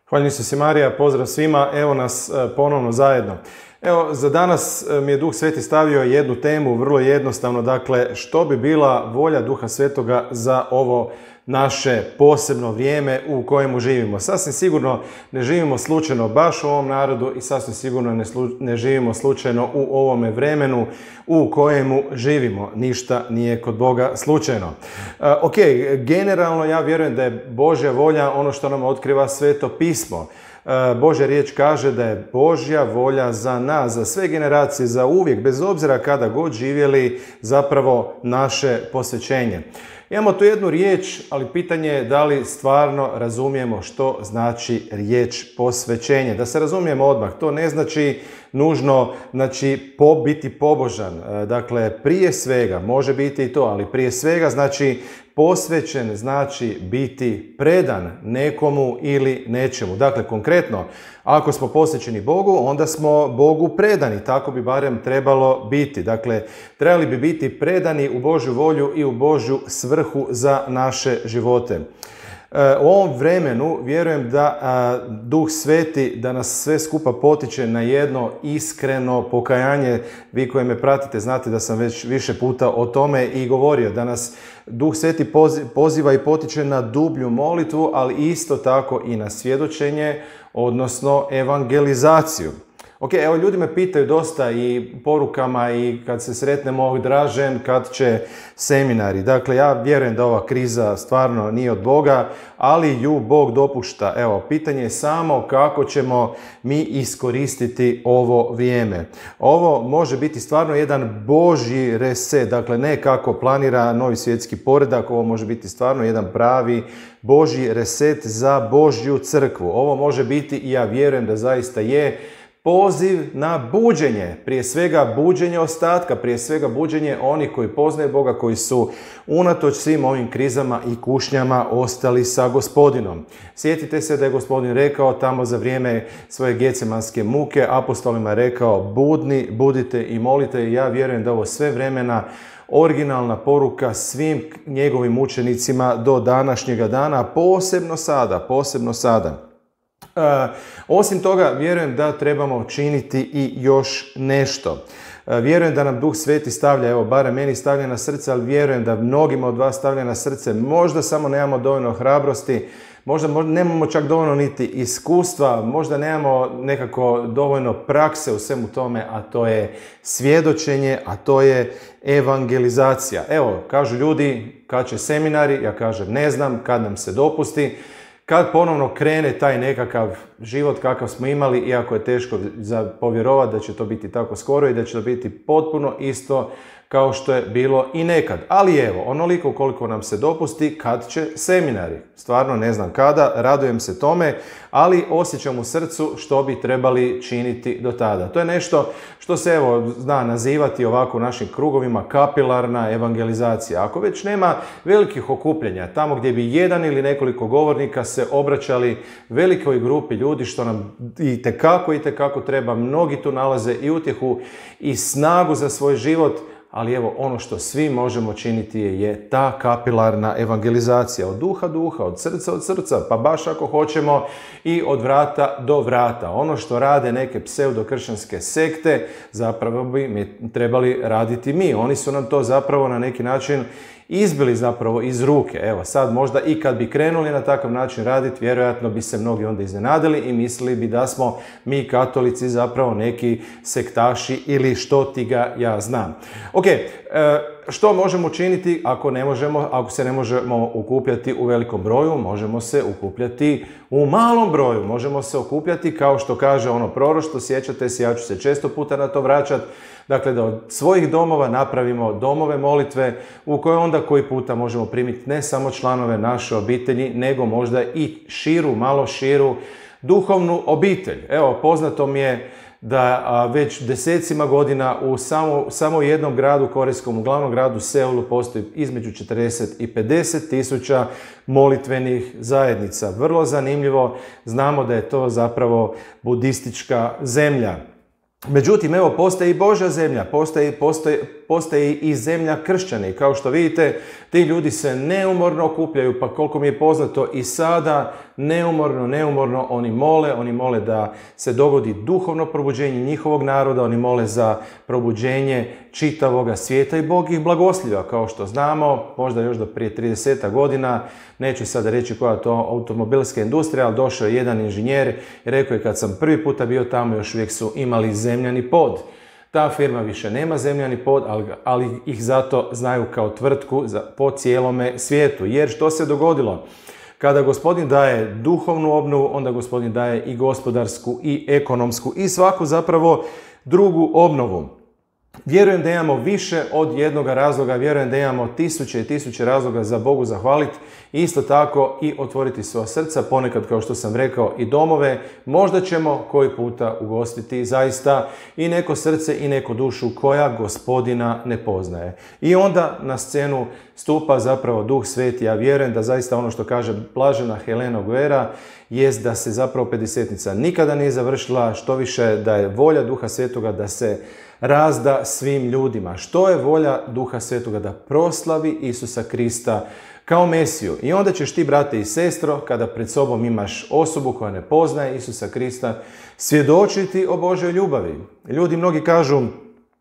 Hvala Isus Marija, pozdrav svima, evo nas ponovno zajedno. Evo, za danas mi je Duh Sveti stavio jednu temu, vrlo jednostavno, dakle, što bi bila volja Duha Svetoga za ovo naše posebno vrijeme u kojemu živimo. Sasvim sigurno ne živimo slučajno baš u ovom narodu i sasvim sigurno ne živimo slučajno u ovome vremenu u kojemu živimo. Ništa nije kod Boga slučajno. Ok, generalno ja vjerujem da je Božja volja ono što nam otkriva Sveto pismo. Božja riječ kaže da je Božja volja za nas, za sve generacije, za uvijek, bez obzira kada god živjeli, zapravo naše posvećenje. Imamo tu jednu riječ, ali pitanje je da li stvarno razumijemo što znači riječ posvećenje. Da se razumijemo odmah, to ne znači nužno biti pobožan. Dakle, prije svega, može biti i to, ali prije svega znači posvećen znači biti predan nekomu ili nečemu. Dakle, konkretno, ako smo posvećeni Bogu, onda smo Bogu predani. Tako bi barem trebalo biti. Dakle, trebali bi biti predani u Božju volju i u Božju svrhu za naše živote. U ovom vremenu vjerujem da Duh Sveti da nas sve skupa potiče na jedno iskreno pokajanje. Vi koji me pratite znate da sam već više puta o tome i govorio, da nas Duh Sveti poziva i potiče na dublju molitvu, ali isto tako i na svjedočenje, odnosno evangelizaciju. Ok, evo ljudi me pitaju dosta i porukama i kad se sretnemo Dražen, kad će seminari. Dakle, ja vjerujem da ova kriza stvarno nije od Boga, ali ju Bog dopušta. Evo, pitanje je samo kako ćemo mi iskoristiti ovo vrijeme. Ovo može biti stvarno jedan Božji reset, dakle ne kako planira novi svjetski poredak, ovo može biti stvarno jedan pravi Božji reset za Božju crkvu. Ovo može biti, i ja vjerujem da zaista je, poziv na buđenje, prije svega buđenje ostatka, prije svega buđenje onih koji poznaju Boga, koji su unatoč svim ovim krizama i kušnjama ostali sa Gospodinom. Sjetite se da je Gospodin rekao tamo za vrijeme svoje getsemanske muke, apostolima je rekao budite i molite, i ja vjerujem da ovo sve vremena originalna poruka svim njegovim učenicima do današnjega dana, posebno sada. Osim toga, vjerujem da trebamo činiti i još nešto. Vjerujem da nam Duh Sveti stavlja, evo, barem meni stavlja na srce, ali vjerujem da mnogima od vas stavlja na srce. Možda samo nemamo dovoljno hrabrosti, možda nemamo čak dovoljno niti iskustva, možda nemamo nekako dovoljno prakse u svemu tome, a to je svjedočenje, a to je evangelizacija. Evo, kažu ljudi, kad će seminari, ja kažem ne znam, kad nam se dopusti. Kad ponovno krene taj nekakav život kakav smo imali, iako je teško za povjerovati da će to biti tako skoro i da će to biti potpuno isto kao što je bilo i nekad. Ali evo, onoliko koliko nam se dopusti, kad će seminari. Stvarno ne znam kada, radujem se tome, ali osjećam u srcu što bi trebali činiti do tada. To je nešto što se evo zna nazivati ovako u našim krugovima kapilarna evangelizacija. Ako već nema velikih okupljanja, tamo gdje bi jedan ili nekoliko govornika se obraćali velikoj grupi ljudi, što nam itekako treba, mnogi tu nalaze i utjehu i snagu za svoj život. Ali evo, ono što svi možemo činiti je ta kapilarna evangelizacija od duha, od srca, pa baš ako hoćemo i od vrata do vrata. Ono što rade neke pseudokršćanske sekte, zapravo bi trebali raditi mi. Oni su nam to zapravo na neki način izbili zapravo iz ruke. Evo, sad možda i kad bi krenuli na takav način raditi, vjerojatno bi se mnogi onda iznenadili i mislili bi da smo mi katolici zapravo neki sektaši ili što ti ga ja znam. Ok, što možemo učiniti ako se ne možemo okupljati u velikom broju? Možemo se okupljati u malom broju. Možemo se okupljati kao što kaže ono proroštvo, sjećate se, ja ću se često puta na to vraćati. Dakle, da od svojih domova napravimo domove molitve u koje onda koji puta možemo primiti ne samo članove naše obitelji, nego možda i malo širu duhovnu obitelj. Evo, poznato mi je da već desecima godina u samo jednom gradu korejskom, u glavnom gradu Seulu, postoji između 40 i 50 tisuća molitvenih zajednica. Vrlo zanimljivo, znamo da je to zapravo budistička zemlja. Međutim, evo, postoji i Božja zemlja, postoji i zemlja kršćana. I kao što vidite, ti ljudi se neumorno okupljaju, pa koliko mi je poznato i sada, neumorno oni mole da se dogodi duhovno probuđenje njihovog naroda, oni mole za probuđenje čitavoga svijeta i Bog ih blagosliva. Kao što znamo, možda još do prije 30 godina, neću sada reći koja je to automobilska industrija, ali došao je jedan inženjer i rekao je kad sam prvi puta bio tamo, još uvijek su imali zemljani pod. Ta firma više nema zemljani pod, ali ih zato znaju kao tvrtku po cijelome svijetu. Jer što se dogodilo? Kada Gospodin daje duhovnu obnovu, onda Gospodin daje i gospodarsku i ekonomsku i svaku zapravo drugu obnovu. Vjerujem da imamo više od jednoga razloga, vjerujem da imamo tisuće i tisuće razloga za Bogu zahvaliti. Isto tako i otvoriti svoja srca, ponekad kao što sam rekao i domove. Možda ćemo koji puta ugostiti zaista i neko srce i neku dušu koja Gospodina ne poznaje. I onda na scenu stupa zapravo Duh Sveti. Ja vjerujem da zaista ono što kaže blažena Helena Guerra jest da se zapravo Pedesetnica nikada nije završila, što više da je volja Duha Svetoga da se razda svim ljudima. Što je volja Duha Svetoga? Da proslavi Isusa Krista kao Mesiju. I onda ćeš ti, brate i sestro, kada pred sobom imaš osobu koja ne poznaje Isusa Krista, svjedočiti o Božoj ljubavi. Ljudi mnogi kažu,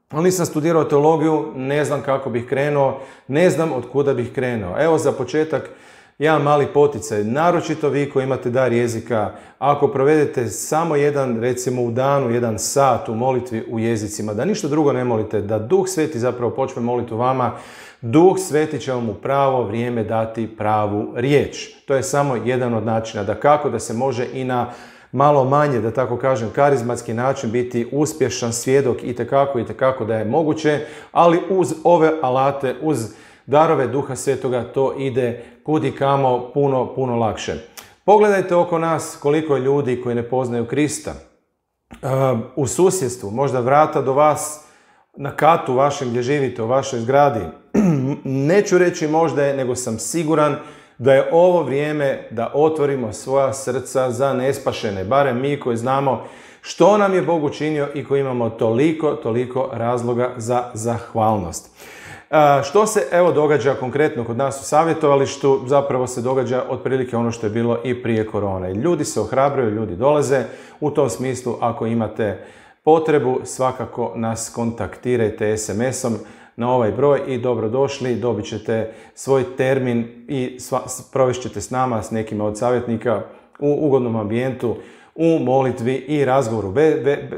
ali nisam studirao teologiju, ne znam kako bih krenuo, ne znam od kuda bih krenuo. Evo za početak, jedan mali poticaj, naročito vi koji imate dar jezika, ako provedete samo recimo u danu, 1 sat u molitvi u jezicima, da ništa drugo ne molite, da Duh Sveti zapravo počne moliti u vama, Duh Sveti će vam u pravo vrijeme dati pravu riječ. To je samo jedan od načina da kako da se može i na malo manje, da tako kažem, karizmatski način biti uspješan svjedok i tekako da je moguće, ali uz ove alate, uz darove Duha Svetoga to ide kudikamo puno lakše. Pogledajte oko nas koliko je ljudi koji ne poznaju Krista. U susjedstvu, možda vrata do vas, na katu vašem gdje živite, u vašoj zgradi. Neću reći možda je, nego sam siguran da je ovo vrijeme da otvorimo svoja srca za nespašene. Barem mi koji znamo što nam je Bog učinio i koji imamo toliko razloga za zahvalnost. Što se evo događa konkretno kod nas u savjetovalištu? Zapravo se događa otprilike ono što je bilo i prije korone. Ljudi se ohrabruju, ljudi dolaze. U tom smislu, ako imate potrebu, svakako nas kontaktirajte SMS-om na ovaj broj i dobrodošli. Dobit ćete svoj termin i provešćete s nama, s nekima od savjetnika u ugodnom ambijentu, u molitvi i razgovoru,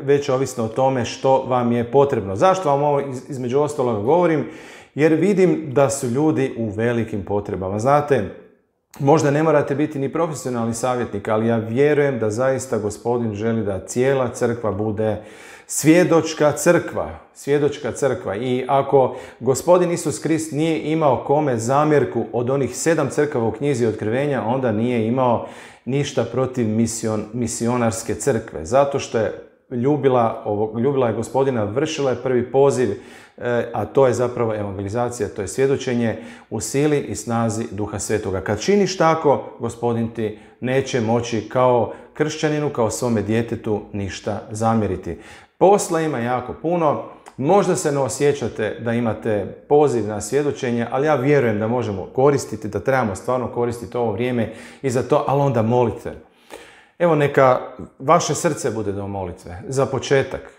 već ovisno o tome što vam je potrebno. Zašto vam ovo između ostaloga govorim? Jer vidim da su ljudi u velikim potrebama. Znate, možda ne morate biti ni profesionalni savjetnik, ali ja vjerujem da zaista Gospodin želi da cijela crkva bude svjedočka crkva. I ako Gospodin Isus Krist nije imao kome zamjerku od onih 7 crkava u knjizi Otkrivenja, onda nije imao ništa protiv misionarske crkve. Zato što je ljubila je Gospodina, vršila je prvi poziv, a to je zapravo evangelizacija, to je svjedočenje u sili i snazi Duha Svetoga. Kad činiš tako, Gospodin ti neće moći kao kršćaninu, kao svome djetetu ništa zamjeriti. Posla ima jako puno, možda se ne osjećate da imate poziv na svjedočenje, ali ja vjerujem da možemo koristiti, da trebamo stvarno koristiti ovo vrijeme i za to, ali onda molite. Evo neka vaše srce bude do molitve. Za početak,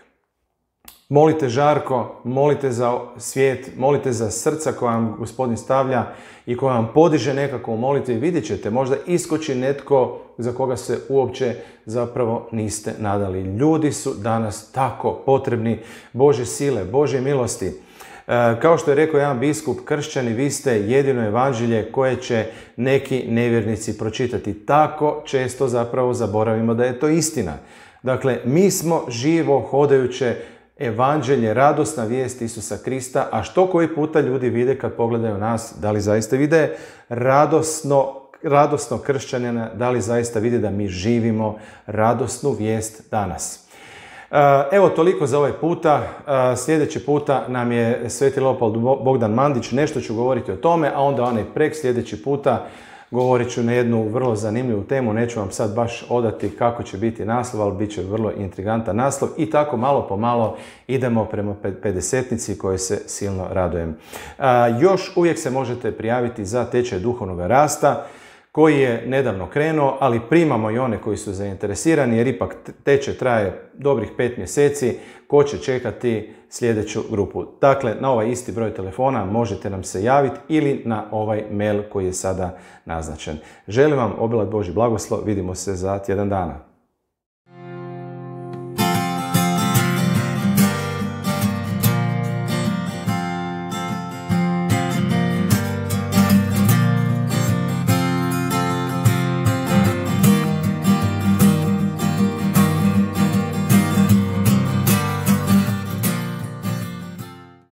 molite žarko, molite za svijet, molite za srca koja vam Gospodin stavlja i koja vam podiže nekako u molitvi. Vidjet ćete, možda iskoči netko za koga se uopće zapravo niste nadali. Ljudi su danas tako potrebni Božje sile, Božje milosti. Kao što je rekao jedan biskup, kršćani, vi ste jedino evanđelje koje će neki nevjernici pročitati. Tako često zapravo zaboravimo da je to istina. Dakle, mi smo živo hodajuće evanđelje, radosna vijest Isusa Krista, a što koji puta ljudi vide kad pogledaju nas, da li zaista vide radosno kršćanina, da li zaista vide da mi živimo radosnu vijest danas. Evo toliko za ovaj puta. Sljedeći puta nam je Sveti Leopold Bogdan Mandić, nešto ću govoriti o tome, a onda onaj sljedeći puta govorit ću na jednu vrlo zanimljivu temu, neću vam sad baš odati kako će biti naslov, ali bit će vrlo intrigantan naslov i tako malo po malo idemo prema 50-nici kojoj se silno radujem. Još uvijek se možete prijaviti za tečaj duhovnog rasta koji je nedavno krenuo, ali primamo i one koji su zainteresirani jer ipak tečaj traje dobrih 5 mjeseci. Ko će čekati sljedeću grupu? Dakle, na ovaj isti broj telefona možete nam se javiti ili na ovaj mail koji je sada naznačen. Želim vam obilat Božji blagoslov, vidimo se za tjedan dana.